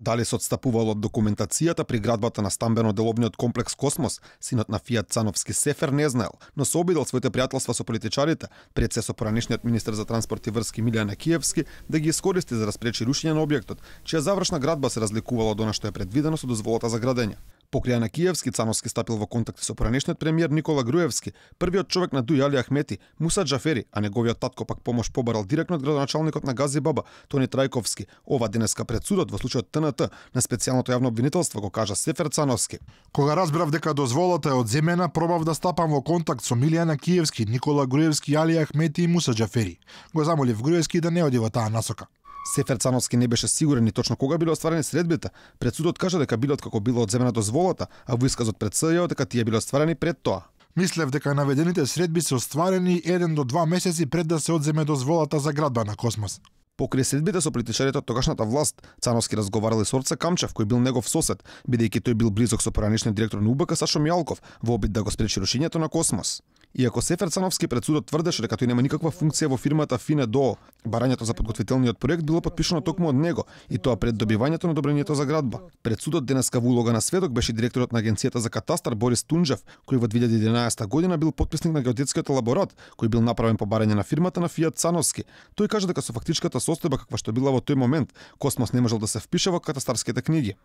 Дали се отстапувал од документацијата при градбата на стамбено-деловниот комплекс Космос, синот на Фијат Цановски Сефер не знаел, но се обидел своите пријателства со политичарите, пред се со поранешниот министер за транспорт и врски Милјан Киевски, да ги искористи за да спречи рушење на објектот, чија завршна градба се разликувала од она што е предвидено со дозволата за градење. Покрај на Киевски, Цановски стапил во контакти со поранешниот премиер Никола Груевски, првиот човек на Дуј Али Ахмети, Муса Џафери, а неговиот татко пак помош побарал директно од градоначалникот на Гази Баба, Тони Трајковски. Ова денеска пред судот во случајот ТНТ на специјалното јавно обвинителство го кажа Сефер Цановски. Кога разбрав дека дозволата е одземена, пробав да стапам во контакт со Милјана Киевски, Никола Груевски, Али Ахмети и Муса Џафери. Го замолив Груевски да не оди во таа насока. Сефер Цановски не беше сигурен ни точно кога биле остварени средбите. Пред судот кажа дека било откако било одземена дозволата, а во исказот пред СЈО дека тие биле остварени пред тоа. Мислев дека наведените средби се остварени 1 до 2 месеци пред да се одземе дозволата за градба на Космос. Покрај средбите со политичарите од тогашната власт, Цановски разговарал и со Орце Камчев, кој бил негов сосед, бидејќи тој бил близок со поранешниот директор на УБК Сашо Мијалков, во обид да го спречи рушењето на Космос. Иако Сефер Цановски пред судот тврдеше дека тој нема никаква функција во фирмата Фине ДОО, барањето за подготвителниот проект било потпишано токму од него, и тоа пред добивањето на одобрението за градба. Пред судот денеска во улога на сведок беше директорот на Агенцијата за катастар Борис Тунџев, кој во 2011 година бил потписник на геодетскиот елаборат, кој бил направен по барање на фирмата на Фијат Цановски. Тој кажа дека со фактичката состојба каква што била во тој момент, Космос не можел да се впише во катастарските книги.